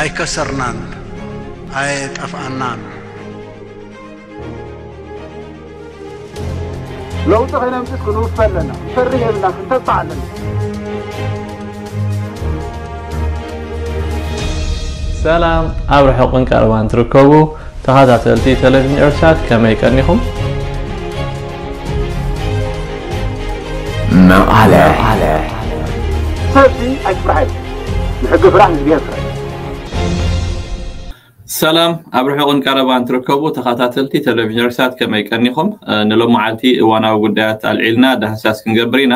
ኣይከሰርናን፣ ኣየጠፍኣናን። ለውጢ ከይነምፅስ ክንውፈ ኣለና። ክንፈርህ የብልና፣ ክንተባዕ ኣለና። ሰላም ኣብ ርሑቕን ቀረባን ትርከቡ ተኸታተልቲ ቴሌቪዥን ኤርትሳት፣ ከመይ ቀኒኹም? መቐለ ሰብሲ ኣይትፍራሕ፣ ንሕጊ ፍራሕ፣ ንእግዚኣብሔር ፍራሕ። ሰላም ኣብ ርሑቕን ቀረባን ትርከቡ ተኸታተልቲ ቴሌቪዥን ኤርትሳት፣ ከመይ ቀኒኹም? ንሎሚ መዓልቲ እዋናዊ ጉዳያት ኣልዒልና ዳህሳስ ክንገብር ኢና።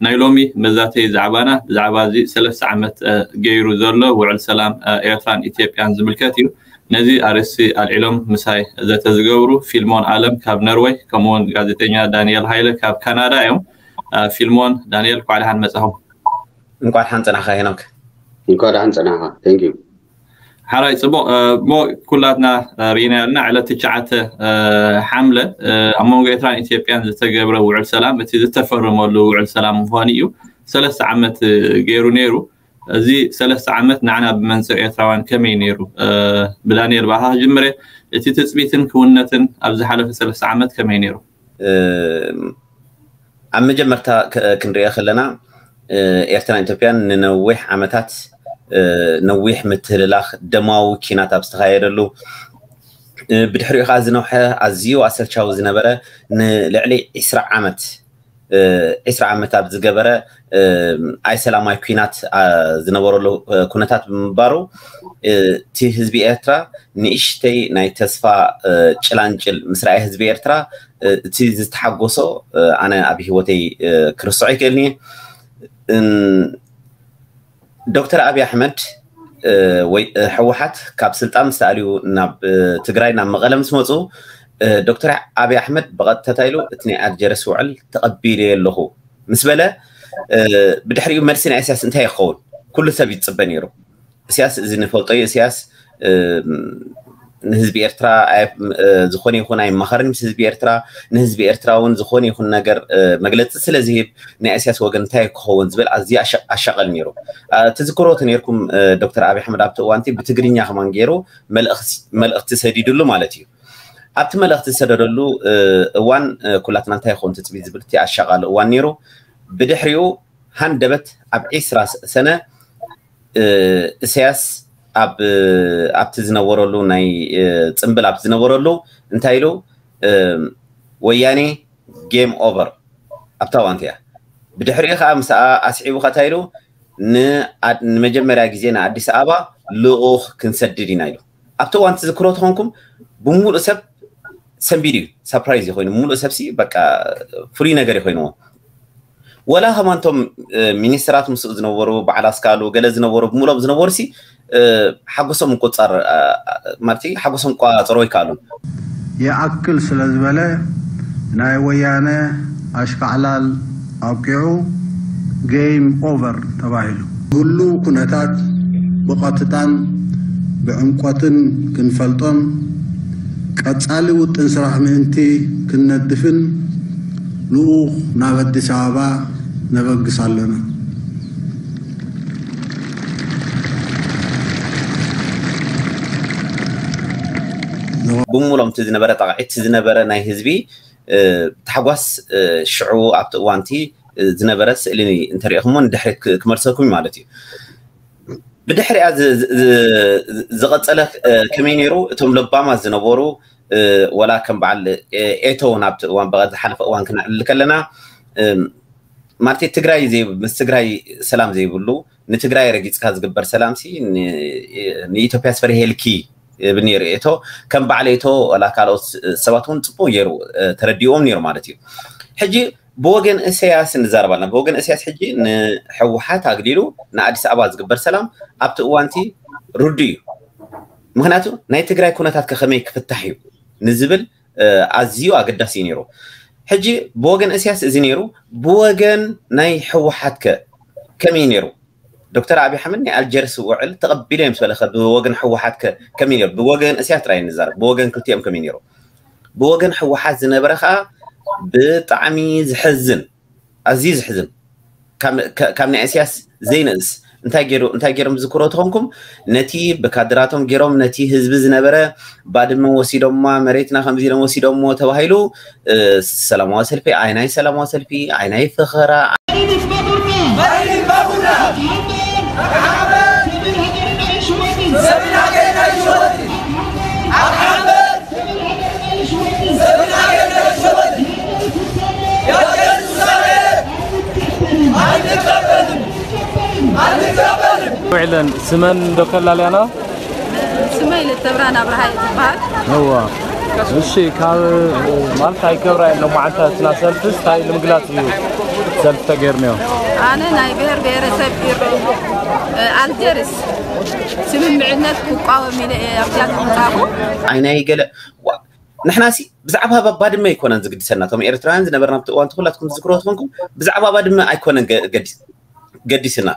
ናይ ሎሚ መዛተይ ዛዕባና ብዛዕባ እዚ ሰለስተ ዓመት ገይሩ ዘሎ ውዕል ሰላም ኤርትራን ኢትዮጵያን ዝምልከት እዩ። ነዚ ኣርእስቲ ኣልዒሎም ምሳይ ዘተ ዝገብሩ ፊልሞን ኣለም ካብ ነርወይ፣ ከምኡውን ጋዜጠኛ ዳንኤል ሃይለ ካብ ካናዳ እዮም። ፊልሞን፣ ዳንኤል፣ እንኳዕ ደሓን መጻኹም። እንኳዕ ደሓን ጸናሕካ ሄኖክ። እንኳዕ ደሓን ጸናሕካ። Thank you። ሓራይ ጽቡቕ። እሞ ኩላትና ርኢና ያልና ዕለት ትሽዓተ ሓምለ ኣብ መንጎ ኤርትራን ኢትዮጵያን ዝተገብረ ውዕል ሰላም፣ እቲ ዝተፈረመሉ ውዕል ሰላም ምዃኑ እዩ። ሰለስተ ዓመት ገይሩ ነይሩ። እዚ ሰለስተ ዓመት ንዓና ብመንጽር ኤርትራውያን ከመይ ነይሩ? ብዳንኤል ባኻ ክጅምር እየ። እቲ ትጽቢትን ክውነትን ኣብ ዝሓለፈ ሰለስተ ዓመት ከመይ ነይሩ? ኣብ መጀመርታ ክንሪኦ ከለና ኤርትራን ኢትዮጵያን ንነዊሕ ዓመታት ነዊሕ ምትህልላኽ ደማዊ ኪናት ኣብ ዝተኻየደሉ፣ ብድሕሪኡ ከዓ ዝነውሐ ኣዝዩ ኣሰልቻዊ ዝነበረ ንልዕሊ ዒስራ ዓመት ዒስራ ዓመት ኣብ ዝገበረ ኣይሰላማዊ ኲናት ዝነበረሉ ኩነታት ብምንባሩ፣ እቲ ህዝቢ ኤርትራ ንእሽተይ ናይ ተስፋ ጭላንጭል ምስ ረኣየ ህዝቢ ኤርትራ፣ እቲ ዝተሓጎሶ ኣነ ኣብ ህይወተይ ክርስዖ ኣይክእልን እየ። ዶክተር ኣብይ ኣሕመድ ወይ ህወሓት ካብ ስልጣን ምስ ተኣልዩ ናብ ትግራይ ናብ መቐለ ምስ መፁ፣ ዶክተር ኣብይ ኣሕመድ ብቐጥታ እንታይ ኢሉ፣ እቲ ናይ ኣልጀርስ ውዕል ተቐቢለዮ ኣለኹ ምስ በለ፣ ብድሕሪኡ መልሲ ናይ ኢሳያስ እንታይ ይኸውን? ኩሉ ሰብ ይፅበ ነይሩ። ኢሳያስ እዚ ንፈልጦ እዩ። ኢሳያስ ንህዝቢ ኤርትራ ዝኾነ ይኹን ኣይመኸርን ምስ ህዝቢ ኤርትራ፣ ንህዝቢ ኤርትራ እውን ዝኾነ ይኹን ነገር መግለፂ ስለ ዝህብ ናይ ኢሳያስ ወገን እንታይ ክኸውን ዝብል ኣዝዩ ኣሻቐል ነይሩ። ትዝክሮ ተነይርኩም ዶክተር ኣብይ ኣሕመድ ኣብቲ እዋንቲ ብትግርኛ ከማን ገይሩ መልእኽቲ ሰዲድሉ ማለት እዩ። ኣብቲ መልእኽቲ ዝሰደደሉ እዋን ኩላትና እንታይ ይኸውን ትፅቢት ዝብል እቲ ኣሻቓሊ እዋን ነይሩ። ብድሕሪኡ ሃንደበት ኣብ ዒስራ ሰነ ኢሳያስ ኣብ ኣብቲ ዝነበረሉ ናይ ፅምብል ኣብቲ ዝነበረሉ እንታይ ኢሉ፣ ወያኔ game over ኣብታ እዋንቲ እያ። ብድሕሪኡ ከዓ ምስኣ ኣስዒቡ ከታ ኢሉ ንመጀመርያ ግዜ ንኣዲስ ኣበባ ልኡኽ ክንሰድድ ኢና ኢሉ። ኣብቲ እዋን ትዝክሮ ተኾንኩም ብሙሉእ ሰብ ሰንቢድ እዩ። ሳፕራይዝ እዩ ኮይኑ ሙሉእ ሰብሲ በቃ ፍሉይ ነገር እዩ ኮይንዎ። ወላ ከማንቶም ሚኒስትራት ምስኡ ዝነበሩ በዓል ኣስካሉ ገለ ዝነበሩ ብምሎም ዝነበሩ ሲ ሓጎሶም ምቁፃር ማለት ሓጎሶም ቋፅሮ ይከኣሉ። ይኣክል ስለ ዝበለ ናይ ወያነ ኣሽካዕላል ኣብቂዑ game over ተባሂሉ። ህሉው ኩነታት ብቐጥታን ብዕምቆትን ክንፈልጦን ቀፃሊ ውጥን ስራሕ ምእንቲ ክንነድፍን ልኡኽ ናብ ኣዲስ ኣበባ ነበግስ ኣለና። ብምሎም እቲ ዝነበረ ጣቕዒት ዝነበረ ናይ ህዝቢ ታሕጓስ ሽዑ ኣብቲ እዋንቲ ዝነበረ ስእሊ እንተሪእኹሞ ንድሕሪት ክመልሰኩም ማለት እዩ። ብድሕሪኣ ዝቐፀለ ከመይ ነይሩ? እቶም ለባማት ዝነበሩ ወላ ከም በዓል ኤቶ ናብቲ እዋን ዝሓለፈ እዋን ክነዕልል ከለና ማለት ትግራይ ምስ ትግራይ ሰላም ዘይብሉ ንትግራይ ረጊፅካ ዝግበር ሰላም ሲ ንኢትዮጵያ ስፈርሄልኪ ይብል ነይሩ ኤቶ። ከም በዓል ኤቶ ወላ ካልኦት ሰባት እውን ፅቡቅ ገይሩ ተረዲዎም ነይሩ ማለት እዩ። ሕጂ ብወገን እሰያስ ንዛረብ ኣለና። ብወገን እሰያስ ሕጂ ንሕወሓት ኣግሊሉ ንኣዲስ ኣበባ ዝግበር ሰላም ኣብቲ እዋንቲ ርዱ እዩ። ምክንያቱ ናይ ትግራይ ኩነታት ከ ከመይ ክፍታሕ እዩ ንዝብል ኣዝዩ ኣገዳሲ እዩ ነይሩ። ሕጂ ብወገን እሰያስ እዚ ነይሩ፣ ብወገን ናይ ሕወሓት ከ ከመይ ነይሩ? ዶክተር ኣብይ ኣሕመድ ናይ ኣልጀርስ ውዕል ተቐቢለ እዮም ዝበለ ከ ብወገን ሕወሓት ከ ከመይ ነይሩ? ብወገን እሰያስ ጥራይ ንዛረብ፣ ብወገን ክልቲኦም ከመይ ነይሩ? ብወገን ሕወሓት ዝነበረ ከዓ ብጣዕሚ ዝሕዝን ኣዝዩ ዝሕዝን ካብ ናይ እስያስ ዘይንእስ እንታይ ገይሩ እንታይ ገይሮም ዝዝክሮ ተኾንኩም፣ ነቲ ብካድራቶም ገይሮም ነቲ ህዝቢ ዝነበረ ባድመ ወሲዶማ፣ መሬትና ከምዚ ኢሎም ወሲዶሞ ተባሂሉ፣ ሰላማዊ ሰልፊ ኣይናይ ሰላማዊ ሰልፊ ኣይናይ ፈኸራ። ውዕለን ስመን ዶ ከላልያና? ስመይ ልተብራን ኣብርሃ እየ ዝበሃል። እዋ። እሺ፣ ካብ ማለት ኣይከብራ የለ መዓልታ እትና ሰልፍስ እንታይ ንምግላጽ እዩ ሰልፍ ተገይርንዮ? ኣነ ናይ ብሔር ብሔረሰብ ኢሮ ኣልጀርስ ስምምዕነት ክቋወም ኢለ እየ ኣብዚኣ ዝመጻኹ። ኣይናይ ገለ ንሕናሲ ብዛዕባ ባድመ ኣይኮነን ዝግድሰና። እቶም ኤርትራውያን ዝነበርና ኣብቲ እዋንቲ ኩላትኩም ዝዝክሮ ትኾንኩም ብዛዕባ ባድመ ኣይኮነን ገዲስ ገዲስና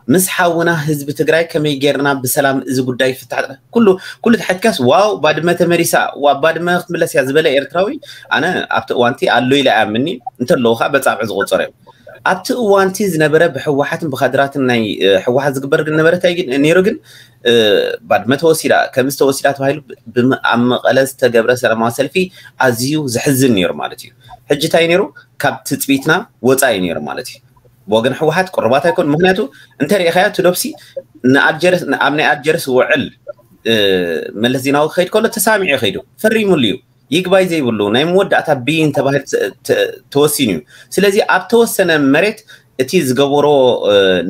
ምስ ሓውና ህዝቢ ትግራይ ከመይ ጌርና ብሰላም እዚ ጉዳይ ይፍታሕ? ኩሉ ኩሉ ተሓትካስ ዋው ባድመ ተመሊሳ፣ ዋ ባድመ ክትምለስ እያ ዝበለ ኤርትራዊ ኣነ ኣብቲ እዋንቲ ኣሎ ኢለ ኣያምኒ እንተለዉ ከዓ በጻብዕ ዝቆጸሩ እዮም። ኣብቲ እዋንቲ ዝነበረ ብሕወሓትን ብካድራትን ናይ ሕወሓት ዝግበር ግን ነበረ እንታይ ግን ነይሩ ግን ባድመ ተወሲዳ ከምዚ ተወሲዳ ተባሂሉ ኣብ መቐለ ዝተገብረ ሰላማዊ ሰልፊ ኣዝዩ ዘሕዝን ነይሩ ማለት እዩ። ሕጂ እንታይ ነይሩ ካብ ትፅቢትና ወፃኢ ነይሩ ማለት እዩ። ብወገን ሕወሓት ቅሩባት ኣይኮን ምክንያቱ እንተሪኢኻዮ እቲ ዶብሲ ንኣልጀርስ ኣብ ናይ ኣልጀርስ ውዕል መለስ ዜናዊ ክኸይድ ከሎ ተሳሚዑ ከይዱ ፈሪሙሉ እዩ። ይግባይ ዘይብሉ ናይ መወዳእታ ብይን ተባሂሉ ተወሲኑ እዩ። ስለዚ ኣብ ተወሰነ መሬት እቲ ዝገበሮ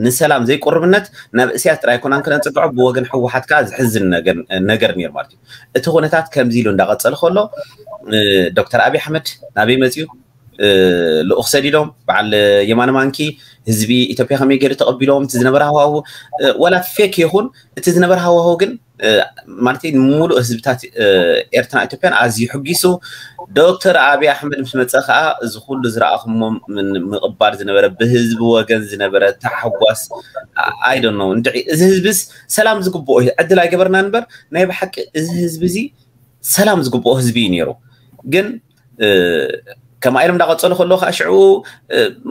ንሰላም ዘይቁርብነት ናብ እስያስ ጥራይ ኮናን ክነፅግዖ ብወገን ሕወሓት ከዓ ዝሕዝን ነገር ነይሩ ማለት እዩ። እቲ ኩነታት ከምዚ ኢሉ እንዳቐፀለ ከሎ ዶክተር ኣብይ ኣሕመድ ናበይ መፅዩ? ልኡኽ ሰዲዶም በዓል የማነ ማንኪ ህዝቢ ኢትዮጵያ ከመይ ገይሩ ተቐቢሎም እቲ ዝነበረ ሃዋሁ ወላ ፌክ ይኹን እቲ ዝነበረ ሃዋሁ ግን ማለት ሙሉእ ህዝብታት ኤርትራን ኢትዮጵያን ኣዝዩ ሕጊሱ። ዶክተር ኣብይ ኣሕመድ ምስ መፀ ከዓ እዚ ኩሉ ዝረኣኹሞ ምቕባል ዝነበረ ብህዝቢ ወገን ዝነበረ ታሕጓስ ኣይደኖ እንድዒ እዚ ህዝብስ ሰላም ዝግብኦ እዩ ዕድል ኣይገበርና እምበር ናይ ብሓቂ እዚ ህዝቢ እዚ ሰላም ዝግብኦ ህዝቢ እዩ ነይሩ። ግን ከማ ኢሎም እንዳቐፀሉ ከለዉ ከዓ ሽዑ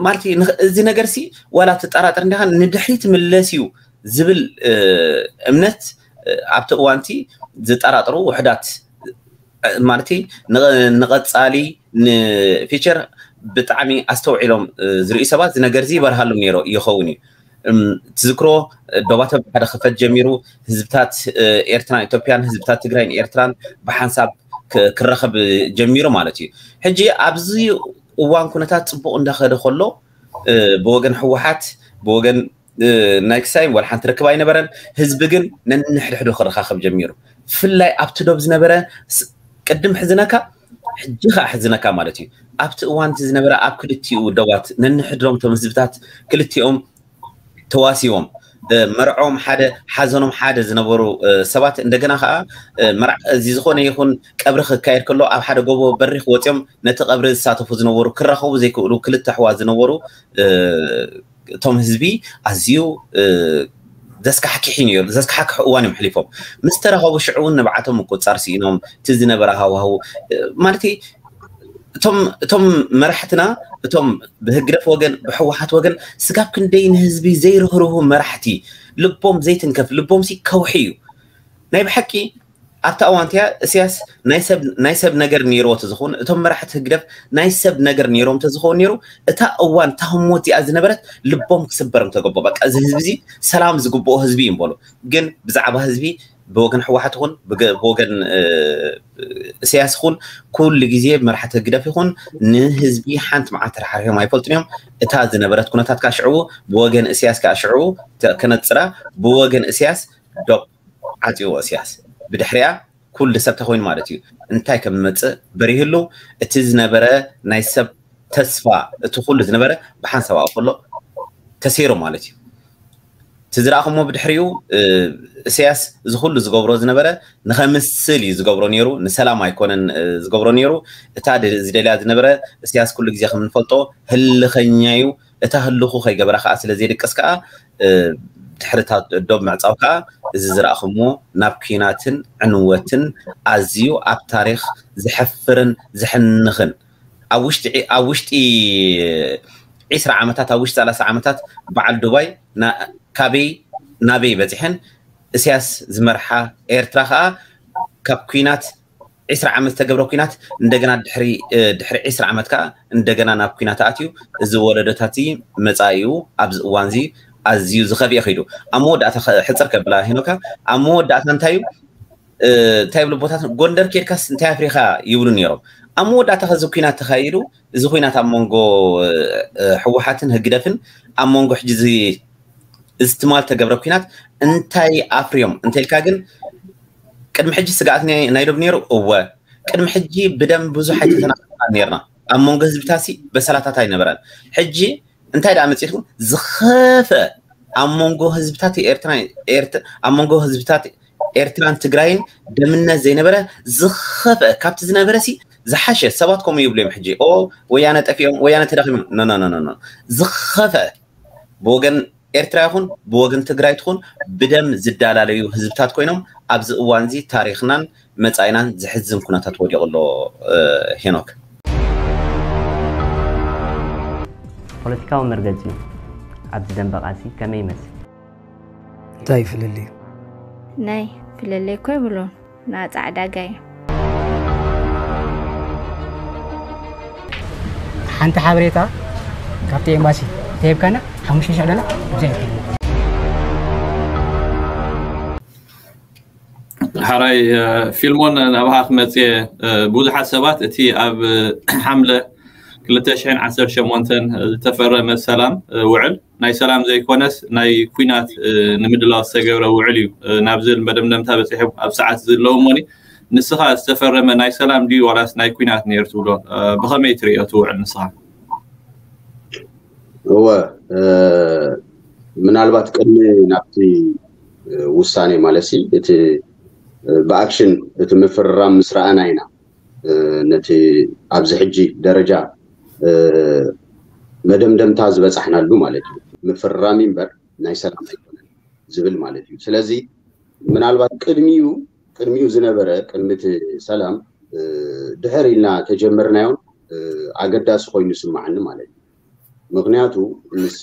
ማለት እዚ ነገር ሲ ዋላ ትጠራጠር እንዲኻ ንድሕሪት ምለስ እዩ ዝብል እምነት ኣብቲ እዋንቲ ዝጠራጥሩ ውሕዳት ማለት ንቐፃሊ ንፊቸር ብጣዕሚ ኣስተውዒሎም ዝርእዩ ሰባት እዚ ነገር እዚ ይበርሃሎም ነይሮ ይኸውን እዩ። ትዝክሮ ዶባተ ሓደ ክፈት ጀሚሩ ህዝብታት ኤርትራን ኢትዮጵያን ህዝብታት ትግራይን ኤርትራን ብሓንሳብ ክረኸብ ጀሚሩ ማለት እዩ። ሕጂ ኣብዚ እዋን ኩነታት ፅቡቕ እንዳኸደ ከሎ ብወገን ህወሓት ብወገን ናይ ክሳይ ወላ ሓንቲ ርክብ ኣይነበረን። ህዝቢ ግን ነንሕድሕዱ ክረኻኸብ ጀሚሩ። ብፍላይ ኣብቲ ዶብ ዝነበረ ቅድም ሕዝነካ ሕጂ ከዓ ሕዝነካ ማለት እዩ። ኣብቲ እዋን እቲ ዝነበረ ኣብ ክልቲኡ ደባት ነንሕድሮም እቶም ህዝብታት ክልቲኦም ተዋሲቦም መርዖም ሓደ ሓዘኖም ሓደ ዝነበሩ ሰባት እንደገና ከዓ እዚ ዝኾነ ይኹን ቀብሪ ክካየድ ከሎ ኣብ ሓደ ጎቦ በሪኽ ወፂኦም ነቲ ቀብሪ ዝሳተፉ ዝነበሩ ክራኸቡ ዘይክእሉ ክልተ ኣሕዋት ዝነበሩ እቶም ህዝቢ ኣዝዩ ዘስካሕክሒ ነይሩ። ዘስካሕክሑ እዋን እዮም ሕሊፎም ምስ ተራኸቡ ሽዑ እውን ንብዓቶም ምቁፅፃር ስኢኖም እቲ ዝነበረ ሃዋህው ማለት እቶም መራሕትና እቶም ብህግደፍ ወገን ብሕወሓት ወገን ስጋብ ክንደይ ንህዝቢ ዘይርህርሁ መራሕቲ ልቦም ዘይትንከፍ ልቦም ሲ ከውሒ እዩ ናይ ብሓቂ ኣብታ እዋን እቲኣ እስያስ ናይ ሰብ ነገር ነይርዎ ተዝኸውን እቶም መራሕቲ ህግደፍ ናይ ሰብ ነገር ነይሮም ተዝኸውን ነይሩ እታ እዋን እታ ህሞት እዚኣ ዝነበረት ልቦም ክስበር ምተገቦ በቃ እዚ ህዝቢ እዚ ሰላም ዝግብኦ ህዝቢ እዩ በሉ ግን ብዛዕባ ህዝቢ ብወገን ሕወሓት ይኹን ብወገን እስያስ ይኹን ኩሉ ግዜ መራሕቲ ህግደፍ ይኹን ንህዝቢ ሓንቲ መዓልቲ ተራሓሪሖም ኣይፈልጡን እዮም እታ ዝነበረት ኩነታት ከዓ ሽዕኡ ብወገን እስያስ ከዓ ሽዕኡ ከነፅራ ብወገን እስያስ ዶብ ዓፅዎ እስያስ ብድሕሪኣ ኩሉ ሰብ ተኮይኑ ማለት እዩ እንታይ ከም መፅእ በሪህሉ እቲ ዝነበረ ናይ ሰብ ተስፋ እቲ ኩሉ ዝነበረ ብሓንሳብ ኣብኡ ከሎ ተሰይሩ ማለት እዩ እቲ ዝረኣኹሞ ብድሕሪኡ እስያስ እዚ ኩሉ ዝገብሮ ዝነበረ ንኸምስል እዩ ዝገብሮ ነይሩ ንሰላም ኣይኮነን ዝገብሮ ነይሩ እታ ዝደልያ ዝነበረ እስያስ ኩሉ ግዜ ከም ንፈልጦ ህልኸኛ እዩ እታ ህልኹ ከይገበራ ከዓ ስለ ዘይድቅስ ከዓ ድሕርታት ዶብ ምዕፃው ከዓ እዚ ዝረኣኹሞ ናብ ኲናትን ዕንወትን ኣዝዩ ኣብ ታሪክ ዘሕፍርን ዘሕንኽን ኣብ ውሽጢ ኣብ ውሽጢ ዒስራ ዓመታት ኣብ ውሽጢ ሰላሳ ዓመታት በዓል ዱባይ ና- ካበይ ናበይ በፂሐን? እስያስ ዝመርሓ ኤርትራ ከዓ ካብ ኩናት ዒስራ ዓመት ዝተገብረ ኩናት እንደገና ድሕሪ ድሕሪ ዒስራ ዓመት ከዓ እንደገና ናብ ኩናት ኣትዩ። እዚ ወለዶታት መፃኢኡ ኣብዚ እዋን እዚ ኣዝዩ ዝኸፍኤ ከይዱ። ኣብ መወዳእታ ሕፅር ከብላ ሄኖካ፣ ኣብ መወዳእታ እንታይ እዩ እንታይ ይብሉ ቦታት ጎንደር ኬድካስ እንታይ ኣፍሪኻ ይብሉ ነይሮም። ኣብ መወዳእታ ከዚ ኩናት ተኻይዱ። እዚ ኩናት ኣብ መንጎ ህወሓትን ህግደፍን ኣብ መንጎ ሕጂ እዚ ትማል ተገብረ ኩናት እንታይ ኣፍርዮም እንተልካ ግን ቅድሚ ሕጂ ስግኣት ናይ ዶብ ነይሩ። እወ ቅድሚ ሕጂ ብደም ብዙሕ ኣይተተናና ነርና። ኣብ መንጎ ህዝብታሲ በሰላታት ኣይነበረን። ሕጂ እንታይ ደኣ መፂእትኩም ዝኸፈ ኣብ መንጎ ህዝብታት ኤርትራ ኣብ መንጎ ህዝብታት ኤርትራን ትግራይን ደምነት ዘይነበረ ዝኸፈ ካብቲ ዝነበረ ሲ ዝሓሸ ሰባት ከምኡ ይብሉ እዮም። ሕጂ ኦ ወያነ ጠፊኦም ወያነ ተዳኺሞም ኖ ኖ ኖ ዝኸፈ ብወገን ኤርትራ ይኹን ብወገን ትግራይ ትኹን ብደም ዝዳላለዩ ህዝብታት ኮይኖም ኣብዚ እዋን እዚ ታሪኽናን መጻኢናን ዝሕዝን ኩነታት ወዲቑ ኣሎ። ሄኖክ ፖለቲካዊ መርገጺኡ ኣብዚ ደንበ ቃልሲ ከመይ ይመስል? እንታይ ፍልልዩ? ናይ ፍልልይ እኮ ይብሉን ንኣጻዕዳ ጋይ ሓንቲ ሓበሬታ ካብቲ ኤምባሲ ተሂብካና ሓሙሽተ ሽሕ ዶላር ብዘይ ሓራይ ፊልሞን ናባኻ ክመፅእ ብዙሓት ሰባት እቲ ኣብ ሓምለ ክልተ ሽሕን ዓሰርተ ሸሞንተን ዝተፈረመ ሰላም ውዕል ናይ ሰላም ዘይኮነስ ናይ ኩናት ንምድላው ዝተገብረ ውዕል እዩ ናብ ዝብል መደምደምታ በፂሑ ኣብ ሰዓት ዝለዉ እሞኒ ንስኻ ዝተፈረመ ናይ ሰላም ድዩ ዋላስ ናይ ኩናት ነይሩ ትብሎ ብኸመይ ትርእዮ እቲ ውዕል ንስኻ እወ ምናልባት ቅድሚ ናብቲ ውሳኔ ማለት ሲ እቲ ብኣክሽን እቲ ምፍርራም ምስ ረኣና ኢና ነቲ ኣብዚ ሕጂ ደረጃ መደምደምታ ዝበፃሕናሉ ማለት እዩ። ምፍርራም እምበር ናይ ሰላም ኣይኮነን ዝብል ማለት እዩ። ስለዚ ምናልባት ቅድሚኡ ቅድሚኡ ዝነበረ ቅድሚ እቲ ሰላም ድሕር ኢልና ተጀመርናዮን ኣገዳሲ ኮይኑ ይስማዓኒ ማለት እዩ። ምክንያቱ ምስ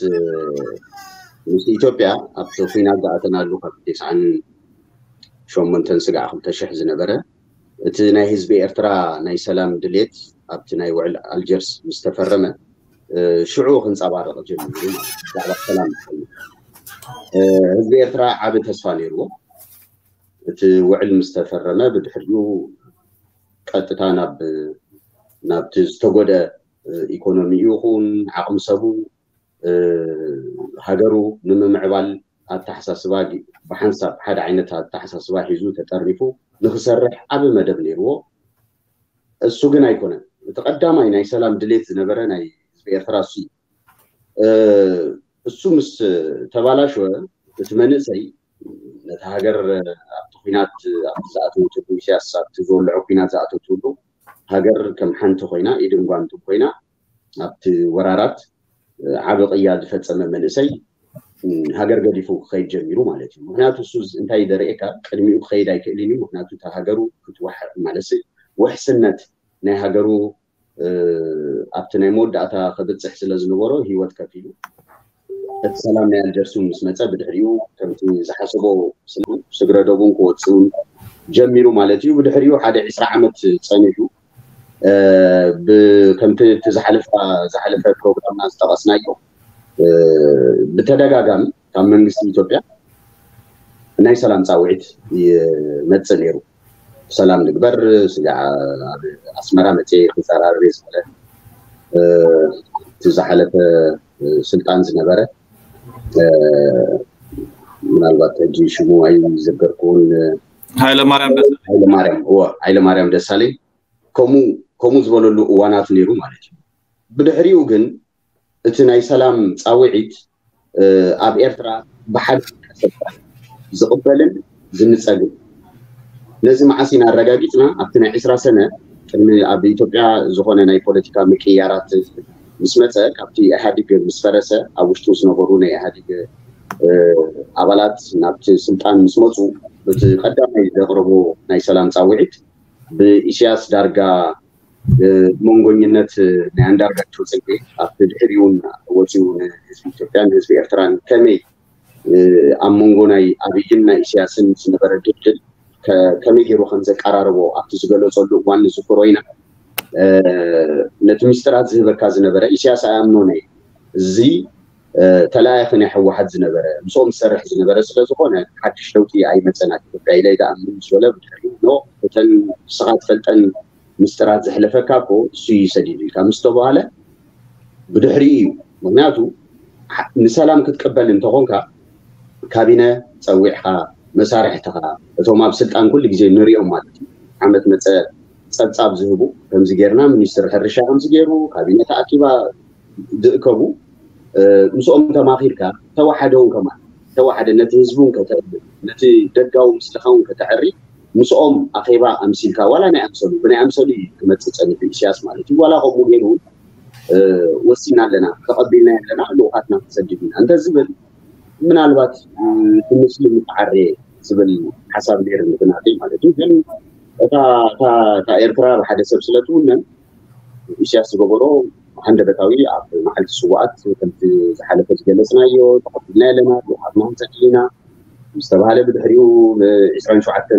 ምስ ኢትዮጵያ ኣብቲ ኩናት ዝኣተናሉ ካብ ተስዓን ሸሞንተን ስጋዕ ክልተ ሽሕ ዝነበረ እቲ ናይ ህዝቢ ኤርትራ ናይ ሰላም ድሌት ኣብቲ ናይ ውዕል ኣልጀርስ ምስ ተፈረመ ሽዑ ክንፀባረቕ ጀሚሩ ማለት ብዛዕባ ሰላም ህዝቢ ኤርትራ ዓቢ ተስፋ ነይርዎ። እቲ ውዕል ምስ ተፈረመ ብድሕሪኡ ቀጥታ ናብ ናብቲ ዝተጎደ ኢኮኖሚ ይኹን ዓቕሚ ሰቡ ሃገሩ ንምምዕባል ኣተሓሳስባ ብሓንሳብ ሓደ ዓይነት ኣተሓሳስባ ሒዙ ተጠርኒፉ ንክሰርሕ ዓቢ መደብ ነይርዎ። እሱ ግን ኣይኮነን። እቲ ቀዳማይ ናይ ሰላም ድሌት ዝነበረ ናይ ህዝቢ ኤርትራ እሱ እዩ። እሱ ምስ ተባላሸወ እቲ መንእሰይ ነቲ ሃገር ኣብቲ ኩናት ኣብቲ ዝኣተወትሉ ኢሳያስ ኣብቲ ዝወልዖ ኩናት ዝኣተወትሉ ሃገር ከም ሓንቲ ኮይና ኢድን ጓንትን ኮይና ኣብቲ ወራራት ዓቢ ቅያ ዝፈጸመ መንእሰይ ሃገር ገዲፉ ክኸይድ ጀሚሩ ማለት እዩ። ምክንያቱ እሱ እንታይ ዘርእየካ ቅድሚኡ ክኸይድ ኣይክእልን እዩ። ምክንያቱ እታ ሃገሩ ክትወሕ ማለት ውሕስነት ናይ ሃገሩ ኣብቲ ናይ መወዳእታ ክብፅሕ ስለ ዝነበሮ ህይወት ከፊሉ እቲ ሰላም ናይ ኣልጀርስ እውን ምስ መፀ ብድሕሪኡ ከምቲ ዝሓሰቦ ስግረ ዶቡን ክወፅእ እውን ጀሚሩ ማለት እዩ። ብድሕሪኡ ሓደ ዒስራ ዓመት ፀኒሑ ከምቲ እቲ ዝሓለፈ ዝሓለፈ ፕሮግራምና ዝጠቐስናዮ ብተደጋጋሚ ካብ መንግስቲ ኢትዮጵያ ናይ ሰላም ፃውዒት ይመፅእ ነይሩ። ሰላም ንግበር ስጋዕ ኣብ ኣስመራ መፅየ ክዘራረብ እየ ዝበለ እቲ ዝሓለፈ ስልጣን ዝነበረ ምናልባት ሕጂ ሽሙ ኣይዘገርኩውን ሃይለማርያም ደሳለኝ ሃይለማርያም እወ ሃይለማርያም ደሳለኝ ከምኡ ከምኡ ዝበለሉ እዋናት ነይሩ ማለት እዩ። ብድሕሪኡ ግን እቲ ናይ ሰላም ፃውዒት ኣብ ኤርትራ ብሓደ ዝቕበልን ዝንፀግን ነዚ መዓስ ኢና ኣረጋጊፅና ኣብቲ ናይ ዕስራ ሰነ ቅድሚ ኣብ ኢትዮጵያ ዝኾነ ናይ ፖለቲካ ምቅያራት ምስ መፀ ካብቲ ኢህኣዲግ ምስ ፈረሰ ኣብ ውሽጡ ዝነበሩ ናይ ኢህኣዲግ ኣባላት ናብቲ ስልጣን ምስ መፁ እቲ ቀዳማይ ዘቕረቦ ናይ ሰላም ፃውዒት ብኢሳያስ ዳርጋ መንጎኝነት ናይ ኣንዳርጋቸው ፅጌ ኣብቲ ድሕሪውን ወፂኡ ንህዝቢ ኢትዮጵያን ንህዝቢ ኤርትራን ከመይ ኣብ መንጎ ናይ ኣብይን ናይ ኢሳያስን ዝነበረ ድልድል ከመይ ገይሩ ከም ዘቀራረቦ ኣብቲ ዝገለጸሉ እዋን ንዝክሮ ኢና። ነቲ ሚስጥራት ዝህበካ ዝነበረ ኢሳያስ ኣይኣምኖን እየ። እዚ ተለኣያኺ ናይ ህወሓት ዝነበረ ምስኦም ዝሰርሕ ዝነበረ ስለ ዝኾነ ሓድሽ ለውጢ ኣይመፀን ኣብ ኢትዮጵያ ኢለ ይደኣምን ምስ በለ ብድሕሪኡ ኖ እተን ንስኻ ትፈልጠን ምስጢራት ዘሕለፈካ እኮ እሱ እዩ ሰዲዱልካ ምስ ተባሃለ ብድሕሪኡ እዩ። ምክንያቱ ንሰላም ክትቅበል እንተኾንካ ካቢነ ፀዊዕካ መሳርሕትኻ እቶም ኣብ ስልጣን ኩሉ ግዜ ንሪኦም ማለት እዩ ዓመት መፀ ፀብፃብ ዝህቡ ከምዚ ጌርና ሚኒስትር ሕርሻ ከምዚ ገይሩ ካቢነ ተኣኪባ ዝእከቡ ምስኦም ተማኺርካ ተዋሓደውን ከማን ተዋሓደ ነቲ ህዝቡን ከተእምን ነቲ ደጋዊ ምስልኻውን ከተዕሪ ምስኦም ኣኼባ ኣምሲልካ ዋላ ናይ ኣምሰሉ ብናይ ኣምሰሉ እዩ ክመፅእ ፀኒሑ ኢሳያስ ማለት እዩ ዋላ ከምኡ ገይሩ እውን ወሲና ኣለና ተቐቢልና ኣለና ልኡኻትና ክሰድድ ኢና እንተዝብል ምናልባት ብምስሊ ምተዓረየ ዝብል ሓሳብ ነይሩ ንግናተይ ማለት እዩ ግን እታ ኤርትራ ብሓደ ሰብ ስለ ትውነን ኢሳያስ ዝገበሮ ሃንደበታዊ ኣብ መዓልቲ ስዋኣት ከምቲ ዝሓለፈ ዝገለፅናዮ ተቐቢልና ኣለና ልኡኻትና ንሰድድ ኢና ዝተባሃለ ብድሕሪኡ ብ27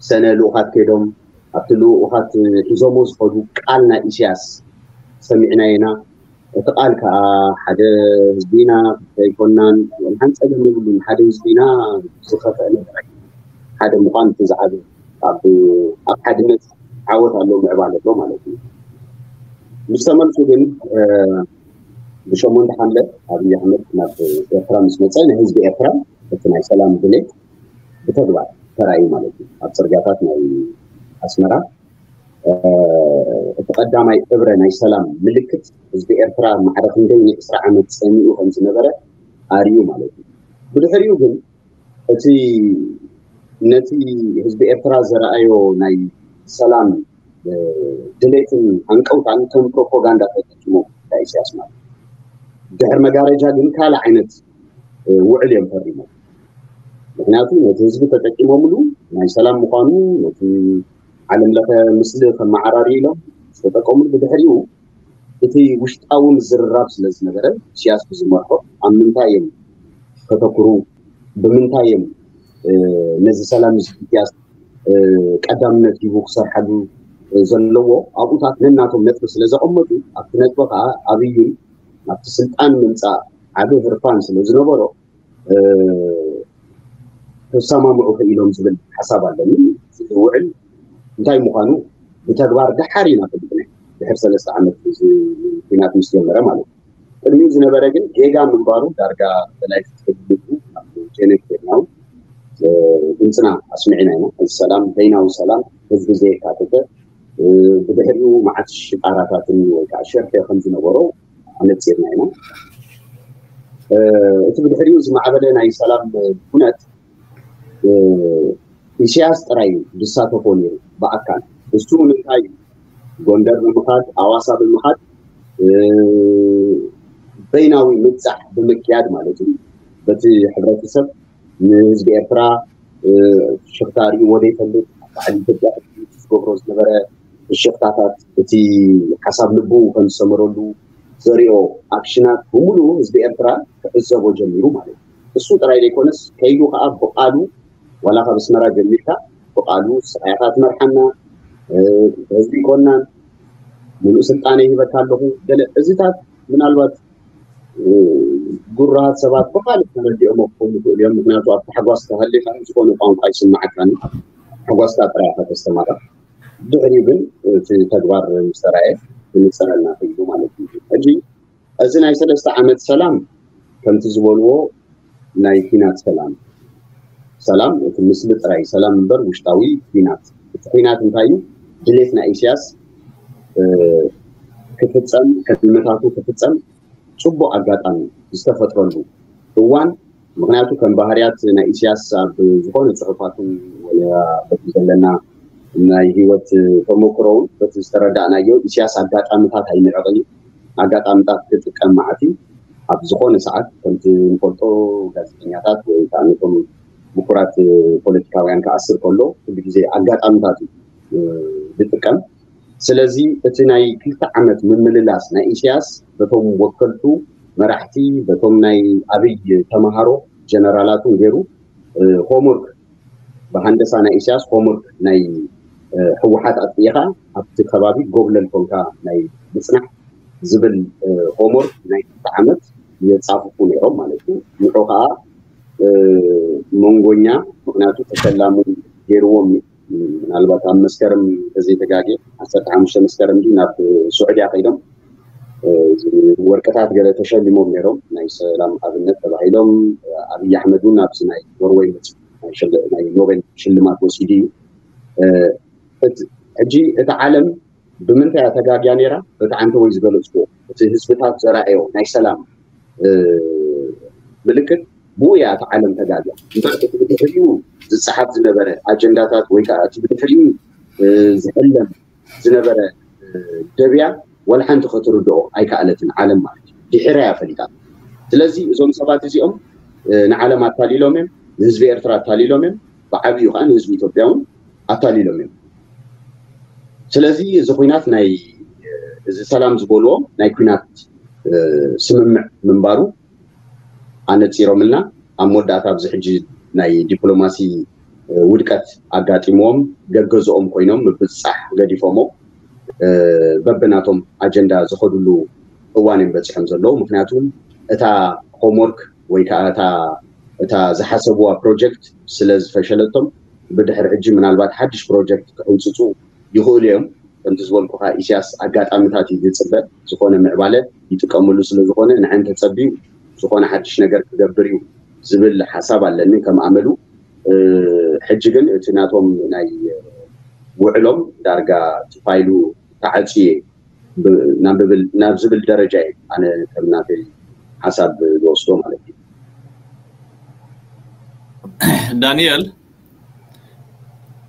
ሰነ ልኡኻት ከይዶም ኣብቲ ልኡኻት ሒዞሞ ዝኸዱ ቃል ናይ ኢሳያስ ሰሚዕና ኢና እቲ ቃል ከዓ ሓደ ህዝቢ ኢና ዘይኮናን ሓን ፀገም የብሉን ሓደ ህዝቢ ኢና ዝኸፈአ ነገር ሓደ ምኳን እቲ ዝዓበ ኣብ ሓድነት ዓወት ኣሎ ምዕባለ ኣሎ ማለት እዩ ምስ ተመልሱ ግን ብሸሞንተ ሓምለ ኣብይ ኣሕመድ ናብ ኤርትራ ምስ መፀ ንህዝቢ ኤርትራ እቲ ናይ ሰላም ድሌት ብተግባር ተራእዩ ማለት እዩ ኣብ ፅርጋታት ናይ ኣስመራ እቲ ቀዳማይ እብረ ናይ ሰላም ምልክት ህዝቢ ኤርትራ ማዕረ ክንደይ ናይ ዕስራ ዓመት ፀሚኡ ከም ዝነበረ ኣርዩ ማለት እዩ ብድሕሪኡ ግን እቲ ነቲ ህዝቢ ኤርትራ ዘረኣዮ ናይ ሰላም ድሌትን ሃንቀውታን ከም ፕሮፓጋንዳ ተጠቂሞም ኢሳያስ ማለት ድሕር መጋረጃ ግን ካልእ ዓይነት ውዕል እዮም ፈሪሞም ምክንያቱ ነቲ ህዝቢ ተጠቂሞምሉ ናይ ሰላም ምኳኑ ነቲ ዓለም ለኸ ምስሊ ከመዓራሪ ኢሎም ዝተጠቀሙሉ ብድሕሪኡ እቲ ውሽጣዊ ምዝርራብ ስለ ዝነበረ ኢሳያስ ብዝመርሖ ኣብ ምንታይ እዮም ከተኩሩ ብምንታይ እዮም ነዚ ሰላም እዚ ኢሳያስ ቀዳምነት ሂቡ ክሰርሓሉ ዘለዎ ኣብኡታት ነናቶም ነጥቢ ስለ ዘቐመጡ ኣብቲ ነጥቢ ከዓ ኣብይን ኣብቲ ስልጣን ምምፃእ ዓቢ ህርፋን ስለ ዝነበሮ ተሰማምዑ ክኢሎም ዝብል ሓሳብ ኣለኒ ዝውዕል እንታይ ምዃኑ ብተግባር ደሓር ኢና ፈሊጥና ድሕር ሰለስተ ዓመት ኩናት ምስ ጀመረ ማለት እዩ ቅድሚኡ ዝነበረ ግን ጌጋ ምንባሩ ዳርጋ በላይ ክትፈልጉ ጀነት ኬድናው ድምፅና ኣስሚዕና ኢና እዚ ሰላም በይናዊ ሰላም ህዝቢ ዘየካተተ ብድሕሪኡ መዓት ሽጣራታትን ወይ ከዓ ሸርፌ ከም ዝነበሮ ኣነፂርና ኢና እቲ ብድሕሪኡ ዝማዕበለ ናይ ሰላም ኩነት ኢሳያስ ጥራይ ዝሳተፎ ነይሩ ብኣካል እሱ ንምንታይ ጎንደር ብምኻድ ኣዋሳ ብምኻድ በይናዊ ምብፃሕ ብምክያድ ማለት እዩ በቲ ሕብረተሰብ ንህዝቢ ኤርትራ ሽፍታ ርእይዎ ዘይፈልጥ ኣብ ባዕሊ ኢትዮጵያ ዝገብሮ ዝነበረ ፍሽኽታታት እቲ ሓሳብ ልቡ ከም ዝሰመረሉ ዘሪኦ ኣክሽናት ብምሉኡ ህዝቢ ኤርትራ ክዕዘቦ ጀሚሩ ማለት እዩ እሱ ጥራይ ዘይኮነስ ከይዱ ከዓ ብቃሉ ዋላ ካብ ኣስመራ ጀሚርካ ብቃሉ ስቃይካ ትመርሓና ህዝቢ ይኮናን ሙሉእ ስልጣነ ይህበካ ኣለኹ ገለ እዚታት ምናልባት ጉራሃት ሰባት ብካልእ ተረዲኦሞ ክኾኑ ይኽእሉ እዮም ምክንያቱ ኣብ ታሕጓስ ተሃሊካ ዝኾነ ቋንቋ ይስማዓካን ሓጓስካ ጥራይ ኢካ ተስተማቕር ድሕሪኡ ግን እቲ ተግባር ምስ ተራእየ ክንፀረና ክኢሉ ማለት እዩ ሕጂ እዚ ናይ ሰለስተ ዓመት ሰላም ከምቲ ዝበልዎ ናይ ኲናት ሰላም ሰላም እቲ ምስሊ ጥራይ ሰላም እምበር ውሽጣዊ ኲናት እቲ ኲናት እንታይ እዩ ድሌት ናይ ኢሳያስ ክፍፀም ሕልምታቱ ክፍፀም ፅቡቅ ኣጋጣሚ ዝተፈጥረሉ እዋን ምክንያቱ ከም ባህርያት ናይ ኢሳያስ ኣብ ዝኾነ ፅሑፋቱ በቲ ዘለና ናይ ህይወት ተሞክሮውን በቲ ዝተረዳእናዮ ኢሳያስ ኣጋጣምታት ኣይንዕቕን እዩ ኣጋጣምታት ክጥቀም መዓት እዩ ኣብ ዝኾነ ሰዓት ከምቲ ንፈልጦ ጋዜጠኛታት ወይ ከዓ ነቶም ምኩራት ፖለቲካውያን ክኣስር ከሎ ኩሉ ግዜ ኣጋጣምታት እዩ ዝጥቀም ስለዚ እቲ ናይ ክልተ ዓመት ምምልላስ ናይ ኢሳያስ በቶም ወከልቱ መራሕቲ በቶም ናይ ኣብይ ተምሃሮ ጀነራላትን ገይሩ ሆምወርክ ብሃንደሳ ናይ ኢሳያስ ሆምወርክ ናይ ህወሓት ኣጥፊእኻ ኣብቲ ከባቢ ጎብለል ኮንካ ናይ ምፅናሕ ዝብል ሆምወርክ ናይ ክልተ ዓመት የፃፍፉ ነይሮም ማለት እዩ። ንዑ ከዓ መንጎኛ ምክንያቱ ተሸላሙ ገይርዎም እዩ። ምናልባት ኣብ መስከረም ተዘይተጋጌ ዓሰርተ ሓሙሽተ መስከረም ድዩ ናብ ስዑድያ ከይዶም ወርቅታት ገለ ተሸሊሞም ነይሮም ናይ ሰላም ኣብነት ተባሂሎም። ኣብይ ኣሕመድ እውን ኣብዚ ናይ ኖርወይ ናይ ኖቤል ሽልማት ወሲዱ እዩ። ሕጂ እቲ ዓለም ብምንታይ እያ ተጋግያ ነይራ? በቲ ዓንተ ወይ ዝገለፅኩዎ እቲ ህዝብታት ዘራእዮ ናይ ሰላም ምልክት ብኡ እያ እቲ ዓለም ተጋግያ። እምበር እቲ ብድሕሪኡ ዝፀሓፍ ዝነበረ ኣጀንዳታት ወይ ከዓ እቲ ብድሕሪኡ ዝሕለም ዝነበረ ደብያ ወላ ሓንቲ ክትርድኦ ኣይከኣለትን ዓለም ማለት እዩ። ድሒራ እያ ፈሊጣ። ስለዚ እዞም ሰባት እዚኦም ንዓለም ኣታሊሎም እዮም፣ ንህዝቢ ኤርትራ ኣታሊሎም እዮም፣ ብዓብዩ ከዓ ንህዝቢ ኢትዮጵያ እውን ኣታሊሎም እዮም። ስለዚ እዚ ኩናት ናይ እዚ ሰላም ዝበልዎ ናይ ኩናት ስምምዕ ምንባሩ ኣነፂሮምልና ኣብ መወዳእታ ኣብዚ ሕጂ ናይ ዲፕሎማሲ ውድቀት ኣጋጢምዎም ገገዝኦም ኮይኖም ምብፅፃሕ ገዲፎሞ በብናቶም ኣጀንዳ ዝኸድሉ እዋን እዮም በፂሖም ዘለዉ። ምክንያቱ እታ ሆምወርክ ወይ ከዓ እታ ዝሓሰብዋ ፕሮጀክት ስለ ዝፈሸለቶም ብድሕሪ ሕጂ ምናልባት ሓድሽ ፕሮጀክት ክሕውፅፁ ይኽእሉ እዮም። ከምቲ ዝበልኩኻ ኢሳያስ ኣጋጣሚታት እዩ ዝፅበ፣ ዝኾነ ምዕባለ ይጥቀመሉ ስለ ዝኾነ ንዐን ተፀቢዩ ዝኾነ ሓድሽ ነገር ክገብር እዩ ዝብል ሓሳብ ኣለኒ ከም ኣመሉ። ሕጂ ግን እቲ ናቶም ናይ ውዕሎም ዳርጋ ፋይሉ ተዓፅየ ናብ ዝብል ደረጃ እዩ ኣነ ከም ናተይ ሓሳብ ዝወስዶ ማለት እዩ። ዳንኤል፣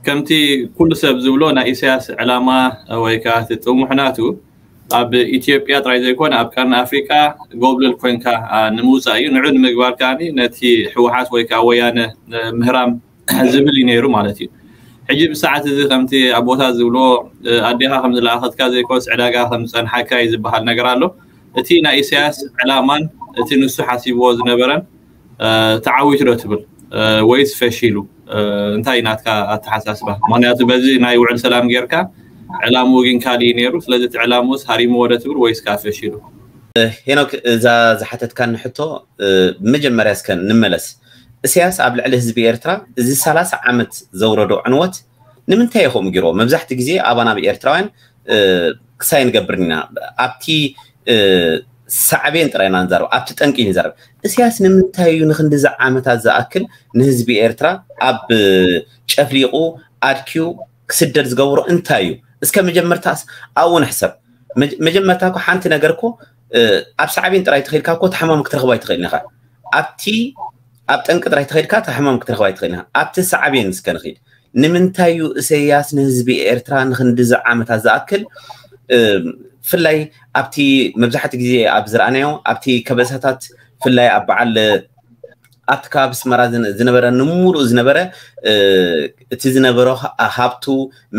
ከምቲ ኩሉ ሰብ ዝብሎ ናይ ኢሳያስ ዕላማ ወይ ከዓ እቲ ጥሙሕ ናቱ ኣብ ኢትዮጵያ ጥራይ ዘይኮነ ኣብ ቀርኒ ኣፍሪቃ ጎብለል ኮንካ ንምውፃእ እዩ። ንዑ ንምግባር ከዓ ነቲ ህወሓት ወይ ከዓ ወያነ ምህራም ዝብል እዩ ነይሩ ማለት እዩ። ሕጂ ብሰዓት እዚ ከምቲ ኣቦታት ዝብሎ ኣዴኻ ከም ዝለኣኸትካ ዘይኮነስ ዕዳጋ ከም ዝፀንሓካ እዩ ዝበሃል ነገር ኣሎ። እቲ ናይ ኢሳያስ ዕላማን እቲ ንሱ ሓሲብዎ ዝነበረን ተዓዊቱ ዶ ትብል ወይስ ፈሺሉ? እንታይ ናትካ ኣተሓሳስባ? ምክንያቱ በዚ ናይ ውዕል ሰላም ጌርካ ዕላምኡ ግን ካሊእ ነይሩ። ስለዚ እቲ ዕላምኡስ ሃሪምዎ ዶ ትብል ወይስ ከዓ ፈሺሉ? ሄኖክ፣ እዛ ዝሓተትካኒ ሕቶ ብመጀመርያ እስከ ንመለስ። እስያስ ኣብ ልዕሊ ህዝቢ ኤርትራ እዚ ሰላሳ ዓመት ዘውረዶ ዕንወት ንምንታይ ኢኹም ገይርዎ? መብዛሕቲ ግዜ ኣባና ኣብ ኤርትራውያን ክሳይ ንገብር ኢና። ኣብቲ ሳዕቤን ጥራይ ኢና ንዛረብ፣ ኣብቲ ጠንቂ ንዛረብ። እስያስ ንምንታይ እዩ ንክንድዚ ዓመታት ዝኣክል ንህዝቢ ኤርትራ ኣብ ጨፍሊቑ ኣድክዩ ክስደድ ዝገብሮ እንታይ እዩ? እስከ መጀመርታስ ኣብኡ ንሕሰብ። መጀመርታ እኮ ሓንቲ ነገር እኮ ኣብ ሳዕቤን ጥራይ ተኸይድካ እኮ ተሓማሚ ክትረኽባ ኣይትኽእልን ኢኻ። ኣብቲ ኣብ ጠንቂ ጥራይ ተኸይድካ ተሓማሚ ክትረኽባ ኣይትኽእልን ኢኻ። ኣብቲ ሳዕቤን እስከ ንኺድ። ንምንታይ እዩ እሰያስ ንህዝቢ ኤርትራ ንክንድዚ ዓመታት ዝኣክል ብፍላይ ኣብቲ መብዛሕቲ ግዜ ኣብ ዝረኣናዮ ኣብቲ ከበሳታት ብፍላይ ኣብ በዓል ኣብቲ ከባቢ ኣስመራ ዝነበረ ንምሉእ ዝነበረ እቲ ዝነበሮ ሃብቱ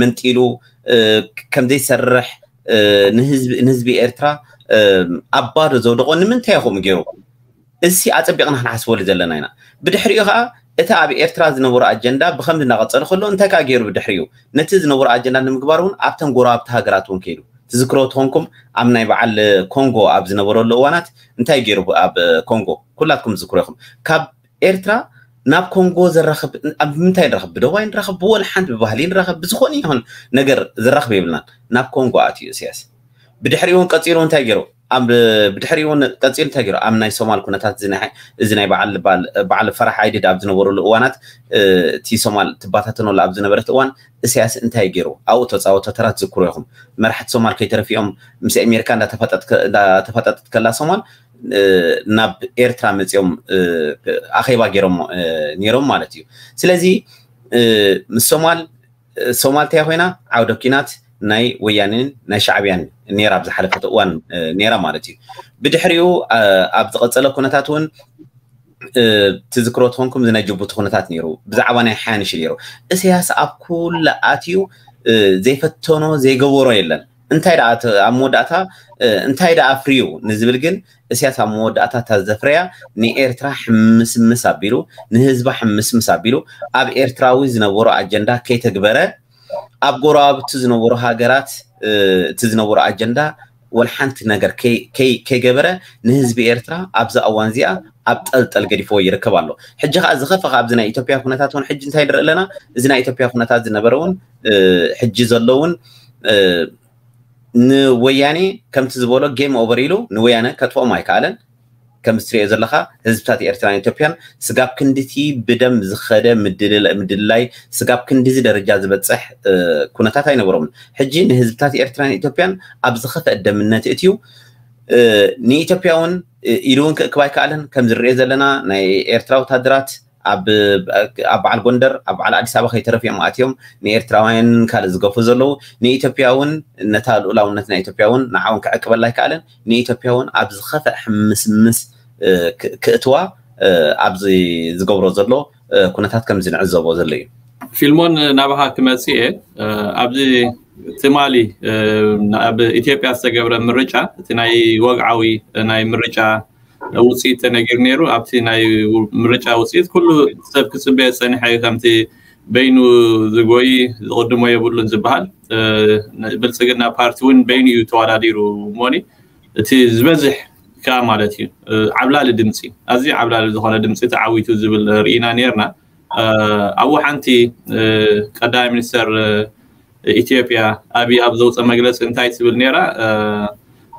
መንጢሉ ከምዘይሰርሕ ንህዝቢ ኤርትራ ኣብ ባዶ ዘውደቆ ንምንታይ ይኸውን ገይሩ? እዚ ኣጸቢቕና ክንሓስበሉ ዘለና ኢና። ብድሕሪኡ ከዓ እቲ ኣብ ኤርትራ ዝነበሮ ኣጀንዳ ብኸምዚ እናቐጸለ ከሎ እንታይ ከዓ ገይሩ ብድሕሪኡ? ነቲ ዝነበሮ ኣጀንዳ ንምግባር እውን ኣብተን ጎረባብቲ ሃገራት እውን ከይዱ። ትዝክሮ ተኾንኩም ኣብ ናይ በዓል ኮንጎ ኣብ ዝነበረሉ እዋናት እንታይ ገይሩ ኣብ ኮንጎ ኩላትኩም ትዝክሮ ኢኹም። ካብ ኤርትራ ናብ ኮንጎ ዘራኽብ ኣብ ምንታይ ንረኽብ? ብደዋይ ንረኽብ፣ ብወላ ሓንቲ ብባህሊ ንረኽብ፣ ብዝኾነ ይኹን ነገር ዘራኽብ የብልናን። ናብ ኮንጎ ኣትዩ እስያስ። ብድሕሪኡ እውን ቀጺሉ እንታይ ገይሩ? ኣብ ብድሕሪኡ እውን ቀጺሉ እንታይ ገይሩ? ኣብ ናይ ሶማል ኩነታት እዚ ናይ በዓል በዓል ፈራሕ ኣይድድ ኣብ ዝነበረሉ እዋናት እቲ ሶማል ትባታተነሉ ኣብ ዝነበረት እዋን እስያስ እንታይ ገይሩ? ኣብኡ ተፃወቶ ተራ ትዝክሩ ኢኹም። መራሕቲ ሶማል ከይተረፊኦም ምስ ኣሜሪካ እንዳተፋጠጠት ከላ ሶማል ናብ ኤርትራ መፂኦም ኣኼባ ገይሮም ነይሮም ማለት እዩ። ስለዚ ምስ ሶማል ሶማል እንታይ ኮይና ዓውደ ኪናት ናይ ወያኔን ናይ ሻዕብያን ነይራ ኣብ ዝሓለፈት እዋን ነይራ ማለት እዩ። ብድሕሪኡ ኣብ ዝቐፀለ ኩነታት እውን ትዝክሮ ትኾንኩም ናይ ጅቡቲ ኩነታት ነይሩ። ብዛዕባ ናይ ሓያንሽ ነይሩ። እስያስ ኣብ ኩሉ ኣትዩ ዘይፈተኖ ዘይገበሮ የለን። እንታይ ደኣ እቲ ኣብ መወዳእታ እንታይ ደኣ ኣፍርዩ ንዝብል ግን፣ እስያስ ኣብ መወዳእታ እታ ዘፍረያ ንኤርትራ ሕምስምስ ኣቢሉ፣ ንህዝባ ሕምስምስ ኣቢሉ፣ ኣብ ኤርትራዊ ዝነበሮ ኣጀንዳ ከይተግበረ፣ ኣብ ጎረባብቲ ዝነበሩ ሃገራት እቲ ዝነበሩ ኣጀንዳ ወላ ሓንቲ ነገር ከይገበረ፣ ንህዝቢ ኤርትራ ኣብዚ እዋን እዚኣ ኣብ ጠልጠል ገዲፍዎ ይርከብ ኣሎ። ሕጂ ከዓ ዝኸፈ ኣብዚ ናይ ኢትዮጵያ ኩነታት እውን ሕጂ እንታይ ንርኢ ኣለና? እዚ ናይ ኢትዮጵያ ኩነታት ዝነበረ እውን ሕጂ ዘሎ እውን ንወያኔ ከምቲ ዝበሎ ጌም ኦቨር ኢሉ ንወያነ ከጥፍኦም ኣይከኣለን። ከምዚ ትሪኦ ዘለካ ህዝብታት ኤርትራን ኢትዮጵያን ስጋብ ክንድቲ ብደም ዝኸደ ምድልላይ፣ ስጋብ ክንድዚ ደረጃ ዝበፅሕ ኩነታት ኣይነበሮምን። ሕጂ ንህዝብታት ኤርትራን ኢትዮጵያን ኣብ ዝኸፈአ ደምነት እትዩ ንኢትዮጵያ እውን ኢዱ እውን ክእክብ ኣይከኣለን። ከም ዝርኤ ዘለና ናይ ኤርትራ ወታደራት ኣብ በዓል ጎንደር ኣብ በዓል ኣዲስ ኣበባ ከይተረፍ እዮም ኣትዮም ንኤርትራውያን ካልእ ዝገፉ ዘለዉ። ንኢትዮጵያ እውን ነታ ልኡላውነት ናይ ኢትዮጵያ እውን ንዓውን ክዕቅበላ ኣይከኣለን። ንኢትዮጵያ እውን ኣብ ዝኸፈእ ሕምስምስ ክእትዋ ኣብዚ ዝገብሮ ዘሎ ኩነታት ከም ዝንዕዘቦ ዘሎ እዩ። ፊልሞን ናባኻ ክመፅእ እየ። ኣብዚ ትማሊ ኣብ ኢትዮጵያ ዝተገብረ ምርጫ እቲ ናይ ወግዓዊ ናይ ምርጫ ውፅኢት ተነጊሩ ነይሩ። ኣብቲ ናይ ምርጫ ውፅኢት ኩሉ ሰብ ክፅበየ ዝፀንሐ እዩ። ከምቲ በይኑ ዝጎይ ዝቕድሞ የብሉን ዝበሃል ብልፅግና ፓርቲ እውን በይኑ እዩ ተወዳዲሩ እሞኒ እቲ ዝበዝሕ ከዓ ማለት እዩ ዓብላሊ ድምፂ ኣዝዩ ዓብላሊ ዝኾነ ድምፂ ተዓዊቱ ዝብል ርኢና ነርና። ኣብኡ ሓንቲ ቀዳማይ ሚኒስተር ኢትዮጵያ ኣብይ ኣብ ዘውፀ መግለፂ እንታይ ትብል ነራ?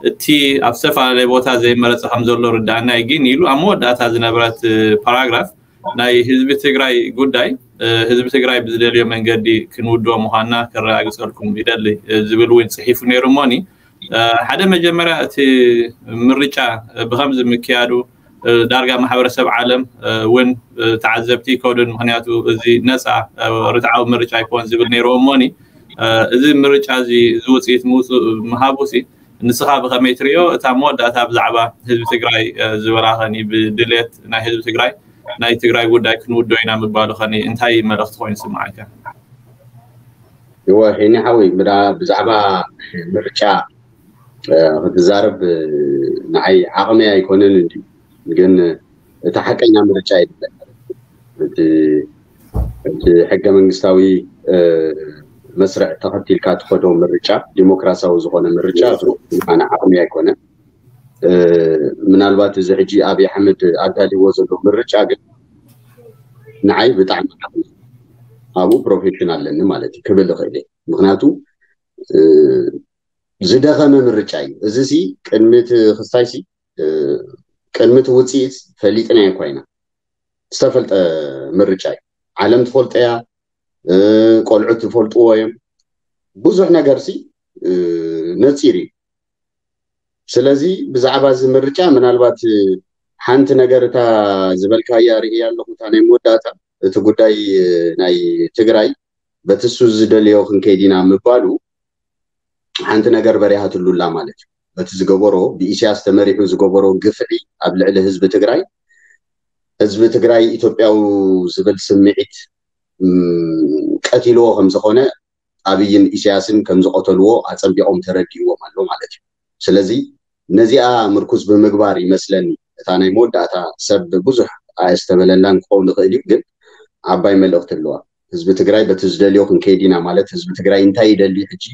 እቲ ኣብ ዝተፈላለየ ቦታ ዘይመረፀ ከም ዘሎ ርዳእና እዩ ግን ኢሉ ኣብ መወዳእታ ዝነበረት ፓራግራፍ ናይ ህዝቢ ትግራይ ጉዳይ ህዝቢ ትግራይ ብዝደልዮ መንገዲ ክንውድኦ ምዃንና ከረጋግፀልኩም ይደሊ ዝብል እውን ፅሒፉ ነይሩ እሞኒ ሓደ መጀመርያ እቲ ምርጫ ብከምዚ ምክያዱ ዳርጋ ማሕበረሰብ ዓለም እውን ተዓዘብቲ ይከዱን ምክንያቱ እዚ ነፃ ርትዓዊ ምርጫ ኣይኮን ዝብል ነይርዎ እሞኒ እዚ ምርጫ እዚ ዝውፅኢት ምውፅእ ምሃቡ ሲ ንስኻ ብኸመይ ትሪኦ እታ መወዳእታ ብዛዕባ ህዝቢ ትግራይ ዝበላ ኸኒ ብድሌት ናይ ህዝቢ ትግራይ ናይ ትግራይ ጉዳይ ክንውዶ ኢና ምባሉ ኸኒ እንታይ መልእኽቲ ኮይኑ ስምዓካ? እወ ሄኒ ሓወይ ብዛዕባ ምርጫ ክትዛረብ ንዓይ ዓቕመይ ኣይኮነን እንዲ ግን እቲ ሓቀኛ ምርጫ የለን። እቲ ሕገ መንግስታዊ መስርዕ ተኸቲልካ ትኸዶ ምርጫ ዲሞክራሲያዊ ዝኾነ ምርጫ ኣነ ዓቕሚ ኣይኮነን። ምናልባት እዚ ሕጂ ኣብይ ኣሕመድ ኣዳልዎ ዘሎ ምርጫ ግን ንዓይ ብጣዕሚ ዓቕሚ ኣብኡ ፕሮፌሽን ኣለኒ ማለት እዩ ክብል እኽእል እየ። ምክንያቱ ዝደኸመ ምርጫ እዩ። እዚ ሲ ቅድሚ እቲ ክስታይ ሲ ቅድሚ እቲ ውፅኢት ፈሊጥናዮ እኳ ኢና ዝተፈልጠ ምርጫ እዩ። ዓለም ትፈልጦ እያ፣ ቆልዑት ዝፈልጥዎ እዮም። ብዙሕ ነገር ሲ ነፂሩ እዩ። ስለዚ ብዛዕባ እዚ ምርጫ ምናልባት ሓንቲ ነገር እታ ዝበልካያ ርእያ ኣለኹ እታ ናይ መወዳእታ እቲ ጉዳይ ናይ ትግራይ በቲ እሱ ዝደልዮ ክንከይድ ኢና ምባሉ ሓንቲ ነገር በሪሃትሉ ኣላ ማለት እዩ። በቲ ዝገበሮ ብኢሳያስ ተመሪሑ ዝገበሮ ግፍዒ ኣብ ልዕሊ ህዝቢ ትግራይ ህዝቢ ትግራይ ኢትዮጵያዊ ዝብል ስምዒት ቀቲልዎ ከም ዝኾነ ኣብይን ኢሳያስን ከም ዝቐተልዎ ኣፀቢቖም ተረዲእዎም ኣሎ ማለት እዩ። ስለዚ ነዚኣ ምርኩዝ ብምግባር ይመስለኒ እታ ናይ መወዳእታ ሰብ ብዙሕ ኣየስተበለላን ክኸውን ይኽእል እዩ፣ ግን ዓባይ መልእኽቲ ኣለዋ። ህዝቢ ትግራይ በቲ ዝደልዮ ክንከይድ ኢና ማለት ህዝቢ ትግራይ እንታይ ይደሊ ሕጂ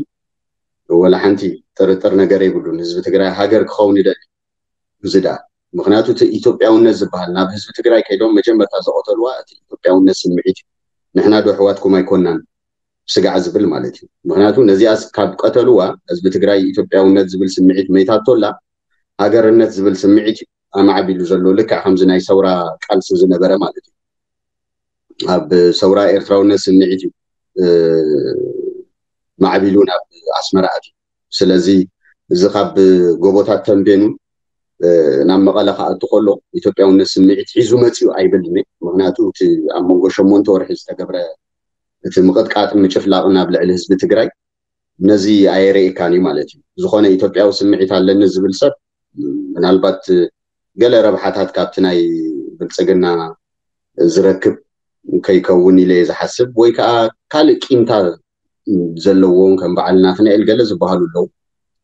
ወላ ሓንቲ ጥርጥር ነገር የብሉን። ህዝቢ ትግራይ ሃገር ክኸውን ይደሊ እዚ ደኣ ምክንያቱ እቲ ኢትዮጵያውነት ዝበሃል ናብ ህዝቢ ትግራይ ከይዶም መጀመርታ ዝቐተልዋ እቲ ኢትዮጵያውነት ስምዒት እዩ። ንሕና ዶ ኣሕዋትኩም ኣይኮናን ስጋዕ ዝብል ማለት እዩ። ምክንያቱ ነዚኣ ካብ ቀተልዋ ህዝቢ ትግራይ ኢትዮጵያውነት ዝብል ስምዒት መይታቶላ ሃገርነት ዝብል ስምዒት እዩ ኣማዕቢሉ ዘሎ ልክዕ ከምዚ ናይ ሰውራ ቃልሲ ዝነበረ ማለት እዩ። ኣብ ሰውራ ኤርትራውነት ስምዒት እዩ ማዕቢሉ ናብ ኣስመራ ኣትዩ። ስለዚ እዚ ካብ ጎቦታት ተንቤኑ ናብ መቐለ ክኣቱ ከሎ ኢትዮጵያውነት ስምዒት ሒዙ መፅዩ ኣይብልን። ምክንያቱ እቲ ኣብ መንጎ ሸሞንተ ወርሒ ዝተገብረ እቲ ምቕጥቃጥን ምጭፍላቕን ኣብ ልዕሊ ህዝቢ ትግራይ ነዚ ኣየርእየካን እዩ ማለት እዩ። ዝኾነ ኢትዮጵያዊ ስምዒት ኣለኒ ዝብል ሰብ ምናልባት ገለ ረብሓታት ካብቲ ናይ ብልፅግና ዝረክብ ከይከውን ኢለ እየ ዝሓስብ። ወይ ከዓ ካልእ ቂምታ ዘለዎም ከም በዓል ናትናኤል ገለ ዝበሃሉ ኣለዉ።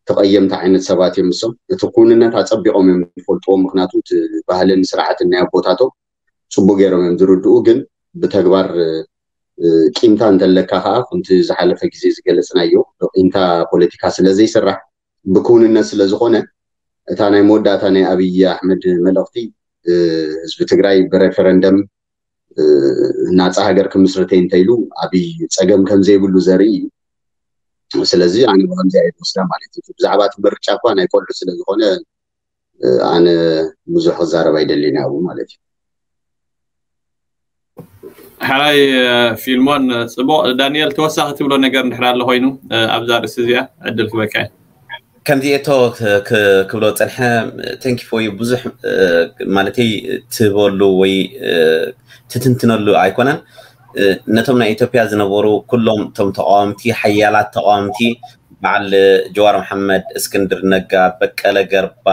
ተቐየምቲ ዓይነት ሰባት እዮም እሶም። እቲ ክውንነት ኣጸቢቖም እዮም ዝፈልጥዎ፣ ምክንያቱ እቲ ባህልን ስርዓትን ናይ ኣቦታቶም ጽቡቅ ገይሮም እዮም ዝርድኡ። ግን ብተግባር ቂምታ እንተለካ ከዓ፣ ከምቲ ዝሓለፈ ግዜ ዝገለፅናዮ፣ ቂምታ ፖለቲካ ስለ ዘይስራሕ፣ ብክውንነት ስለ ዝኾነ፣ እታ ናይ መወዳእታ ናይ ኣብይ ኣሕመድ መልእኽቲ ህዝቢ ትግራይ ብሬፈረንደም ናፃ ሃገር ክምስርተይ እንተኢሉ፣ ኣብይ ፀገም ከም ዘይብሉ ዘርኢ እዩ። ስለዚ ኣነ ብከምዚ እየ ዝወስዳ ማለት እዩ። ብዛዕባ እቲ ምርጫ እኳ ናይ ቆልዑ ስለ ዝኾነ፣ ኣነ ብዙሕ ክዛረብ ኣይደልን ኣብኡ ማለት እዩ። ሕራይ ፊልሞን፣ ፅቡቅ። ዳንኤል፣ ተወሳኺ ትብሎ ነገር እንድሕር ኣሎ ኮይኑ ኣብዛ ርእሲ እዚኣ ዕድል ክበካ። ከምዚ እቶ ክብሎ ፀንሐ። Thank you for you። ብዙሕ ማለተይ ትበሉ ወይ ትትንትነሉ ኣይኮነን። ነቶም ናይ ኢትዮጵያ ዝነበሩ ኩሎም እቶም ተቃወምቲ፣ ሓያላት ተቃወምቲ፣ በዓል ጀዋር መሓመድ፣ እስክንድር ነጋ፣ በቀለ ገርባ፣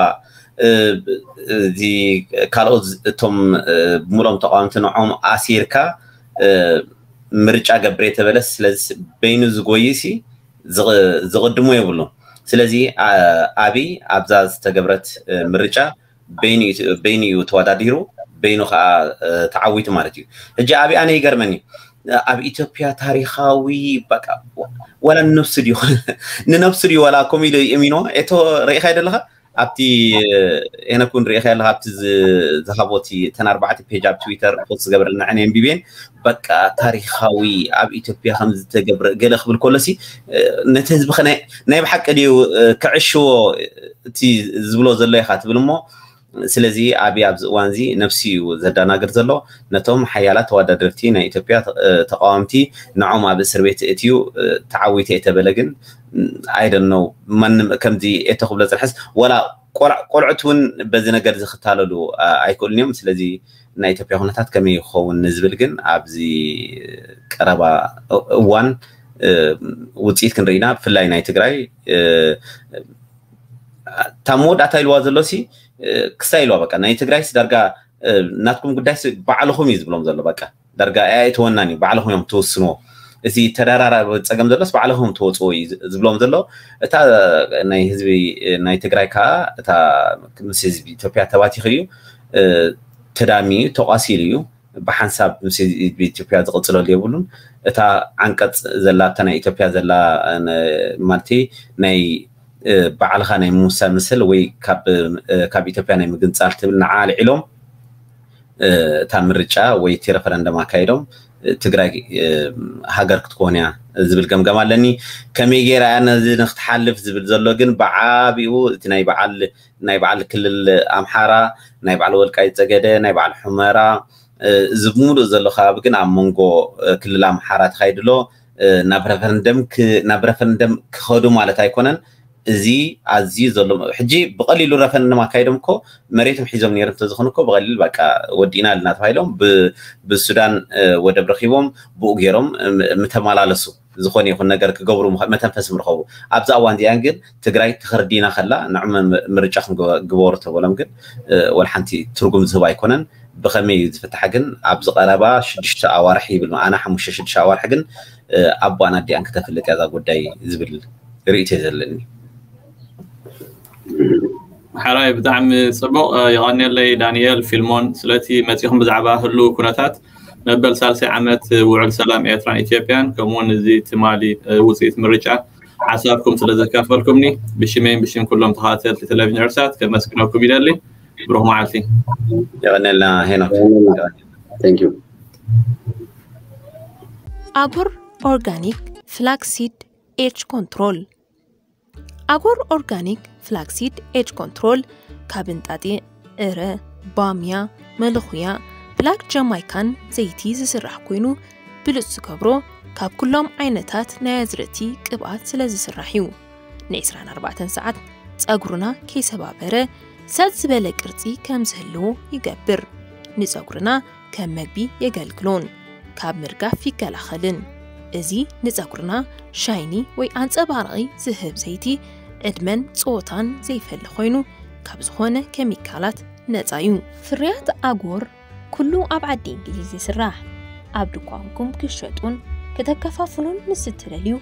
እዚ ካልኦት እቶም ብምሎም ተቃወምቲ ንዖም ኣሲርካ ምርጫ ገብር የተበለስ። ስለዚ በይኑ ዝጎይሲ ዝቕድሞ የብሉ። ስለዚ ኣብይ ኣብዛ ዝተገብረት ምርጫ በይኑ እዩ ተወዳዲሩ፣ በይኑ ከዓ ተዓዊቱ ማለት እዩ። ሕጂ ኣብይ ኣነ ይገርመኒ፣ ኣብ ኢትዮጵያ ታሪካዊ በቃ ወላ ንነብሱ ድዩ ንነብሱ ድዩ ወላ ከምኡ ኢሉ እሚኖ። ኤቶ ርኢኻ ይደለኻ ኣብቲ ኤነኩን ርኢኻ ኣለካ ኣብቲ ዝሃቦቲ እተን ኣርባዕተ ፔጅ ኣብ ትዊተር ፖስት ዝገበረልና ዕነ ኣንቢቤን በቃ ታሪካዊ ኣብ ኢትዮጵያ ከም ዝተገብረ ገለ ክብል ከሎሲ ነቲ ህዝቢ ናይ ብሓቂ ድዩ ክዕሽዎ እቲ ዝብሎ ዘሎ ኢኻ ትብል እሞ ስለዚ ኣብይ ኣብዚ እዋን እዚ ነብሲ እዩ ዘዳናግር ዘሎ ነቶም ሓያላት ተወዳደርቲ ናይ ኢትዮጵያ ተቃወምቲ ንዖም ኣብ እስር ቤት እትዩ ተዓዊተ የተበለ ግን I don't know ማንም ከምዚ እተ ክብሎ ፅንሐስ ወላ ቆልዑት እውን በዚ ነገር እዚ ክታለሉ ኣይክእሉን እዮም ስለዚ ናይ ኢትዮጵያ ኩነታት ከመይ ይኸውን ንዝብል ግን ኣብዚ ቀረባ እዋን ውፅኢት ክንርኢና ብፍላይ ናይ ትግራይ እታ መወዳእታ ኢልዋ ዘሎ ሲ ክሳ ኢልዋ በቃ ናይ ትግራይስ ዳርጋ ናትኩም ጉዳይስ ባዕልኹም እዩ ዝብሎም ዘሎ በቃ ዳርጋ ኣይእትወናን እዩ ባዕልኹም እዮም ትውስንዎ እቲ ተደራራቢ ፀገም ዘሎስ ባዕልኹም ትወፅዎ እዩ ዝብሎም ዘሎ እታ ናይ ህዝቢ ናይ ትግራይ ከዓ እታ ምስ ህዝቢ ኢትዮጵያ ተባቲኺ እዩ ተዳሚ እዩ ተቋሲሉ እዩ ብሓንሳብ ምስ ህዝቢ ኢትዮጵያ ዝቕፅለሉ የብሉን እታ ዓንቀፅ ዘላ እታ ናይ ኢትዮጵያ ዘላ ማለት ናይ ባዕልኻ ናይ ምውሳን ምስል ወይ ካብ ኢትዮጵያ ናይ ምግንፃል ትብል ንዓ ኣልዒሎም እታ ምርጫ ወይ እቲ ረፈረንደም ኣካይዶም ትግራይ ሃገር ክትኮን እያ ዝብል ገምገም ኣለኒ ከመይ ገይራ እያ ነዚ ንክትሓልፍ ዝብል ዘሎ ግን ብዓቢኡ እቲ ናይ በዓል ናይ በዓል ክልል ኣምሓራ ናይ በዓል ወልቃይ ፀገደ ናይ በዓል ሑመራ እዚ ብምሉእ ዘሎ ከባቢ ግን ኣብ መንጎ ክልል ኣምሓራ ተካይድሎ ናብ ረፈረንደም ናብ ረፈረንደም ክኸዱ ማለት ኣይኮነን እዚ ኣዝዩ ዘሎ ሕጂ ብቀሊሉ ረፈረንደም ኣካይዶም እኮ መሬቶም ሒዞም ነይሮም ተዝኾኑ እኮ ብቀሊል በቃ ወዲእና ኣለና ተባሂሎም ብሱዳን ወደብ ረኪቦም ብኡ ገይሮም ምተመላለሱ ዝኾነ ይኹን ነገር ክገብሩ መተንፈሲ ምርኸቡ ኣብዛ እዋን እዚኣን ግን ትግራይ ተኸርዲና ከላ ንዕመ ምርጫ ክንግበሩ ተበሎም ግን ወልሓንቲ ትርጉም ዝህብ ኣይኮነን ብኸመይ እዩ ዝፍታሕ ግን ኣብዚ ቀረባ ሽዱሽተ ኣዋርሒ ይብል ኣና ሓሙሽተ ሽዱሽተ ኣዋርሒ ግን ኣቦኣን ኣዲኣን ክተፍልጥ እያ እዛ ጉዳይ ዝብል ርእይቶ እዩ ዘለኒ ሓራይ ብጣዕሚ ፅቡቅ የቐንየለይ ዳንኤል ፊልሞን ስለቲ መፂኹም ብዛዕባ ህሉ ኩነታት መበል ሳልሳይ ዓመት ውዕል ሰላም ኤርትራን ኢትዮጵያን ከምኡውን እዚ ትማሊ ውፅኢት ምርጫ ሓሳብኩም ስለ ዘካፈልኩምኒ ብሽመይን ብሽም ኩሎም ተኸታተልቲ ቴሌቪዥን ኤርትሳት ከመስግነኩም ይደሊ ብሩክ መዓልቲ የቐንየልና ሄኖክ ኣጉር organic flaxseed edge control ኣጎር organic flaxseed edge control ካብ እንጣጢ ዕረ ባምያ መለኹያ black Jamaican ዘይቲ ዝስራሕ ኮይኑ ብሉፅ ዝገብሮ ካብ ኩሎም ዓይነታት ናይ ኣዝርእቲ ቅብኣት ስለ ዝስራሕ እዩ ን24 ሰዓት ፀጉርና ከይሰባበረ ሰጥ ዝበለ ቅርፂ ከም ዝህልዎ ይገብር ንፀጉርና ከም መግቢ የገልግሎን ካብ ምርጋፍ ይከላኸልን። እዚ ንፀጉርና ሻይኒ ወይ ኣንፀባራቒ ዝህብ ዘይቲ ዕድመን ፆታን ዘይፈሊ ኮይኑ ካብ ዝኾነ ኬሚካላት ነፃ እዩ። ፍርያት ኣጎር ኩሉ ኣብ ዓዲ እንግሊዝ ይስራሕ። ኣብ ድኳንኩም ክሸጡን ከተከፋፍሉን ምስ እትደልዩ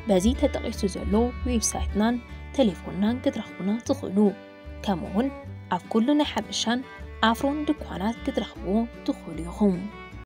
በዚ ተጠቒሱ ዘሎ ዌብሳይትናን ቴሌፎንናን ክትረኽቡና ትኽእሉ። ከምኡውን ኣብ ኩሉ ናይ ሓበሻን ኣፍሮን ድኳናት ክትረኽብዎ ትኽእሉ ኢኹም።